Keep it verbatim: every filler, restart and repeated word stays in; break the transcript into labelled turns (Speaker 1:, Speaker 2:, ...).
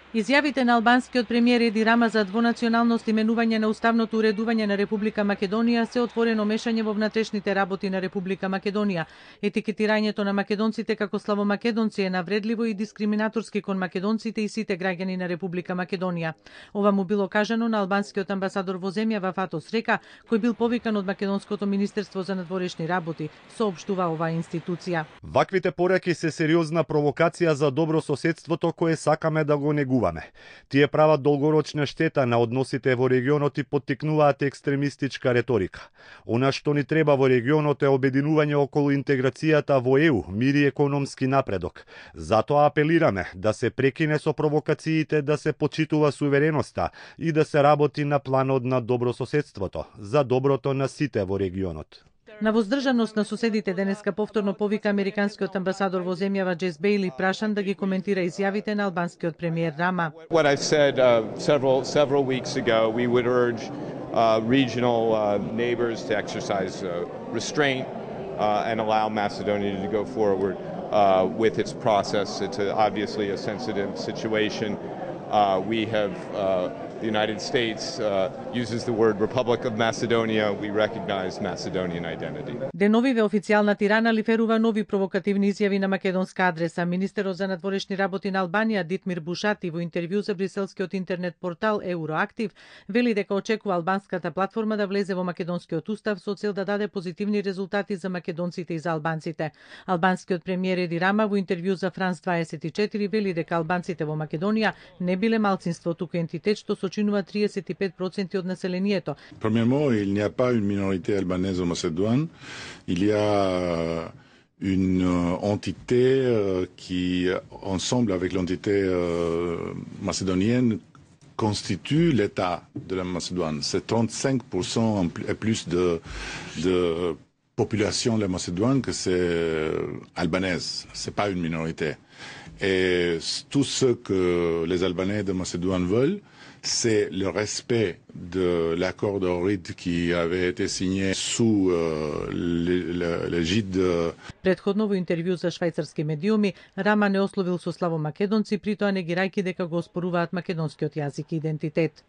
Speaker 1: Изјавите на албанскиот премиер Еди Рама за двонационалност и менување на уставното уредување на Република Македонија се отворено мешање во внатрешните работи на Република Македонија. Етикетирањето на македонците како славомакедонци е навредливо и дискриминаторски кон македонците и сите граѓани на Република Македонија. Ова му било кажано на албанскиот амбасадор во земјава Фатос Река, кој бил повикан од Македонското министерство за надворешни работи, соопштува оваа институција.
Speaker 2: Ваквите пораки се сериозна провокација за добро соседството кое сакаме да го негуваме. Тие прават долгорочна штета на односите во регионот и поттикнуваат екстремистичка реторика. Она што ни треба во регионот е обединување околу интеграцијата во Е У, мир и економски напредок. Затоа апелираме да се прекине со провокациите, да се почитува сувереноста и да се работи на планот на добрососедството, за доброто на сите во регионот.
Speaker 1: На воздржаност на соседите денеска повторно повика американскиот амбасадор во земјава Джес Бејли, прашан да ги коментира изјавите на албанскиот премиер Рама.
Speaker 3: What I've said uh, several several weeks ago, we would urge uh, regional uh, neighbors to exercise uh, restraint uh, and allow Macedonia to go forward uh, with its process. It's a, obviously a sensitive situation. Uh, we have uh, The United States uh, uses the word Republic of Macedonia. We recognize Macedonian identity.
Speaker 1: Деновиве официјална Тирана лиферува нови провокативни изјави на македонска адреса. Министерот за надворешни работи на Албанија Дитмир Бушати во интервју за брискелскиот интернет портал Евроактив вели дека очекува албанската платформа да влезе во македонскиот устав со цел да даде позитивни резултати за македонците и за албанците. Албанскиот премиер Еди Рама во интервју за Франс дваесет и четири вели дека албанците во Македонија не биле малцинство, туку ентитет што сочинува тридесет и пет проценти од населението.
Speaker 4: Premièrement, il n'y a pas une minorité albanaise en Macédoine. Il y a une entité qui, ensemble avec l'entité macédonienne, constitue l'État de la Macédoine. C'est trente-cinq pour cent et plus de, de population de la Macédoine que c'est albanaise. C'est pas une minorité. Et tout ce que les Albanais de Macédoine veulent, c'est le respect de l'accord d'Ohrid qui avait été signé sous euh, l'égide de...
Speaker 1: Предходно во интервју за швајцарски медиуми, Рама не ословил со славомакедонци, при тоа негирајќи дека го оспоруваат македонскиот јазик и идентитет.